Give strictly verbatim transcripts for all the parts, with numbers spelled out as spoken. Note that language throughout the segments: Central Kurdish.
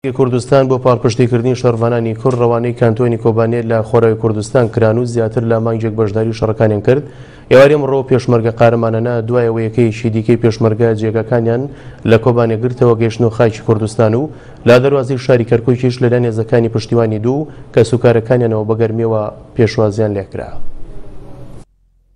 کوردستان بۆ پاڵپشتیکردنی شەڕڤانانی کورد ڕەوانەی کانتۆنی کۆبانێ لە خۆراوی کوردستان کران و زیاتر لە مانگێک بەشداری شەڕەکانیان کرد. ئێوارەی ئەمڕۆ پێشمەرگە قارەمانانە دوایەوە یەکەیەکی دیکەی پێشمەرگە جێگاکانیان لە کۆبانێ گرتەوە گەیشتن و خاکی کوردستان و لە دەروازەی شاری کەرکووکیش لەلایەن هێزەکانی پشتیوانی دوو کەسوکارەکانیانەوە بەگەرمیەوە پێشوازیان لێکرا.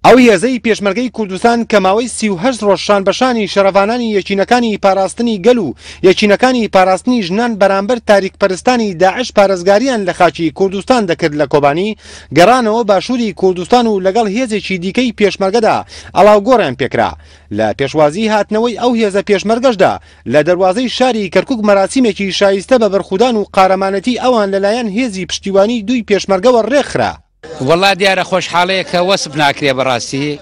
ئەو هێزەی پێشمەرگەی کوردستان کە ماوەی سی و هەشت ڕۆژ شان بەشانی شەڕەڤانانی یەکینەکانی پاراستنی گەل و یەکینەکانی پاراستنی ژنان بەرامبەر تاریکپەرستانی داعش پارێزگاریان لە خاکی کوردستان دەکرد لە کۆبانی گەڕانەوە باشووری کوردستان و لەگەڵ هێزێکی دیکەی پێشمەرگەدا ئەڵاوگۆڕیان پێکرا. لە پێشوازی هاتنەوەی ئەو هێزە پێشمەرگەشدا لە دەروازەی شاری کەرکوک مەراسیمێکی شایستە بە بەرخودان و قارەمانەتی ئەوان لەلایەن هێزی پشتیوانی دووی پێشمەرگەوە ڕێکخرا. وەڵا دیارە خۆشحاڵەیە کە وەسف ناکرێ بەڕاستی.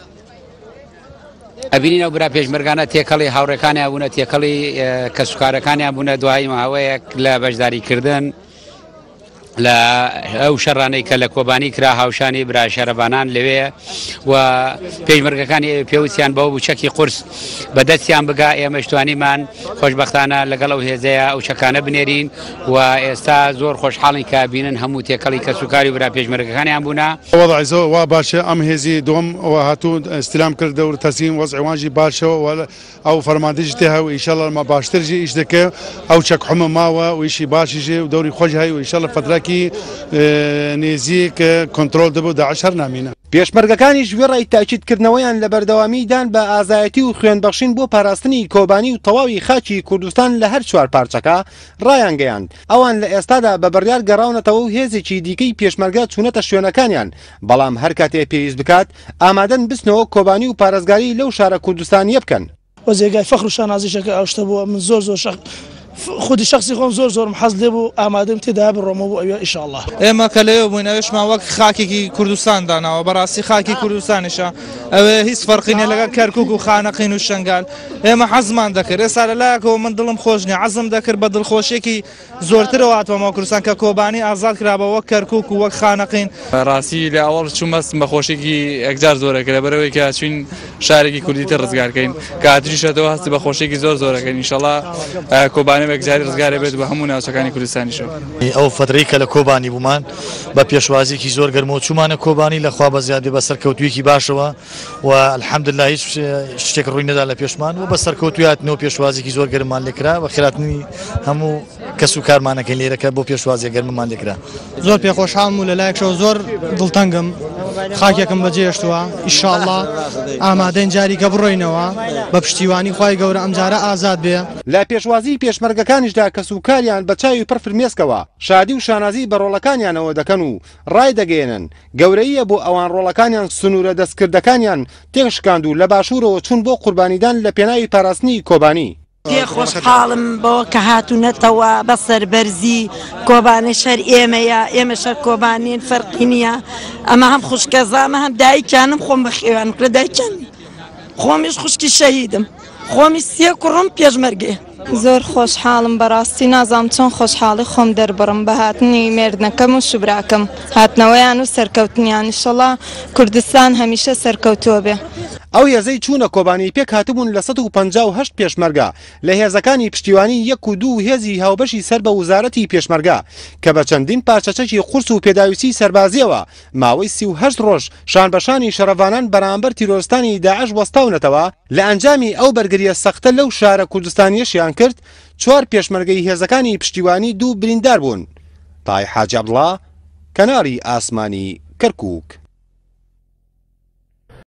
ئەبینین ئەو برا پێشمەرگانە تێکەڵی هاوڕێکانیان بوونە، تێکەڵی کەسوکارەکانیان بوونە دوای ماوەیەک لە بەشداریکردن لە ئەو شەڕانەی کە لە کۆبانی کرا هاوشانی برا شەرەبانان لەوێ و پێشمەرگەکانی پێویستیان بەوە بوو چەکی قورس بەدەستیان بگا. ئێمەش توانیمان خۆشبەختانە لەگەڵ ئەو هێزەیە ئەو چەکانە بنێرین و ئێستا زۆر خۆشحاڵین کە بینن هەموو تێکەڵی کەسوکاری برا پێشمەرگەکانیان بوونە. وەضع زۆر وا باشە، ئەم هێزی دوم هاتوو استلام کرد و تەسلیم وەزعی وانجی باشە و ئەو فەرماندەیش تێ هەیە و ئینشاءڵڵا ما باشتر ژی ئیش دەکە، ئەو چەک حمە ماوە و ئیشی باشیژێ و دەوری خۆش هەیە و ئینشاءڵڵا فتراکی نێزیک کۆنترۆل دەبوو داعش هەر نامینە. پێشمەرگەکانیش وێڕای تاکیدکردنەوەیان لە بەردەوامیدان بە ئازایەتی و خوێنبەخشین بۆ پاراستنی کۆبانی و تەواوی خاکی کوردستان لە هەر چوار پارچەکە ڕایانگەیاند. ئەوان لە ئێستادا بە بڕیار گەڕاونەتەوە و هێزێکی دیکەی پێشمەرگە چوونەتە شوێنەکانیان، بەڵام هەر کاتێ پێویست بکات ئامادەن بچنەوە کۆبانی و پارێزگاری لەو شارە کوردستانیە بکەن. وە جێگای فەخر و شانازیشەکە ئەو شتە بووە. من زۆر زۆر شەخ خودی شخصی خۆم زۆر زۆرم حەز لێ بوو ئامادەم تێدا بڕۆمەوە بۆ ئەوێ ئینشاءڵڵا. ئێمە کە لەوێ بووین ئەوێشمان وەک خاکێکی کوردستان داناوە، بەڕاستی خاکی کوردستانیشە، ئەوێ هیچ فەرقی نییە لەگەڵ کەرکوک و خانەقین و شەنگال. ئێمە حەزمان دەکرد، ئێستا لەلایەکەوە من دڵم خۆش نییە، عەزم دەکرد بە دڵخۆشیێکی زۆرترەوە هاتمەوە کوردستان کە کۆبانی ئازاد کرابە وەک کەرکوک و وەک خانەقین. ڕاستی لە ئەوەڵ چوومە بە خۆشیێکی یەکجار زۆرەکە لەبەرەوەی کە چوین شارێکی کوردی تر ڕزگارکەین، کە هاتریشەتەوە هەستی بە خۆشیێکی زۆر زۆرەکەین. ئینشاءڵڵا کۆبانی بەگجاری ڕزگارە بێت بە هەموو ناوچەکانی کوردستانیشەوە. ئەو فترەی کە لە کۆبانی بوومان بە پێشوازیێکی زۆر گەرمەوە چوومانە کۆبانی، لە خوا بەزیادێ بە سەرکەوتوویەکی باشەوە و الحەمدلله هیچ شتێک ڕووی نەدا لە پێشمان و بە سەرکەوتوویاتنەوە پێشوازیێکی زۆر گەرممان لێکرا و خێراتنی هەموو کەس و کارمانەکەی لێرەکە بۆ پێشوازیە گەرممان لێکرا. زۆر پێخۆشحاڵم و لەلایەکەوە زۆر دڵتەنگم، خاکێکم بەجێهێشتووە. ئینشاءڵڵا ئامادەین جاریکە بڕۆینەوە بە پشتیوانی خوای گەورە ئەمجارە ئازاد بێ. لە پێشوازی پێشمەرگەکانیشدا کەس و کاریان بە چاوی پڕ فرمێسکەوە شادی و شانازی بە ڕۆڵەکانیانەوە دەکەن و ڕایدەگەیەنن گەورەیە بۆ ئەوان ڕۆڵەکانیان سنوورە دەستکردەکانیان تێکشکاند و لە باشوورەوە چوون بۆ قوربانیدان لە پێناوی پاراستنی کۆبانی. پێ خۆشحاڵم بۆ کە هاتوونەتەوە بە سەربەرزی کۆبانێ شەر ئێمەیە، ئێمە شەر کۆبانین، فەرقی نییە. ئەمە هەم خوشکەزامە هەم دایکیانم، خۆم بەخێوانم کرد دایکیان، خۆمیش خوشکی شەهیدم، خۆمی سێ کوڕم پێشمەرگەیە. زۆر خۆشحاڵم بەڕاستی، نازانم چۆن خۆشحاڵی خۆم دەربڕم بە هاتنی مێردنەکەم و شوبراکەم، هاتنەوەیان و سەرکەوتنیان. ئینشەڵڵا کوردستان هەمیشە سەرکەوتووە بێ. ئەو هێزەی چوونە کۆبانی پێک هاتبوون لە سەد و پەنجا و هەشت پێشمەرگە لە هێزەکانی پشتیوانی یەک و دوو هێزی هاوبەشی سەر بە وزارەتی پێشمەرگە کە بە چەندین پارچەچەکی قورس و پێداویستی سەربازیەوە ماوەی سی و هەشت ڕۆژ شانبەشانی شەڕەڤانان بەرامبەر تیرۆرستانی داعش وەستاونەتەوە. لە ئەنجامی ئەو بەرگریە سەختە لەو شارە کوردستانیەشیان کرد، چوار پێشمەرگەی هێزەکانی پشتیوانی دوو بریندار بوون. تای حاجی عەبدوڵڵا، کەناڵی ئاسمانی کەرکوک.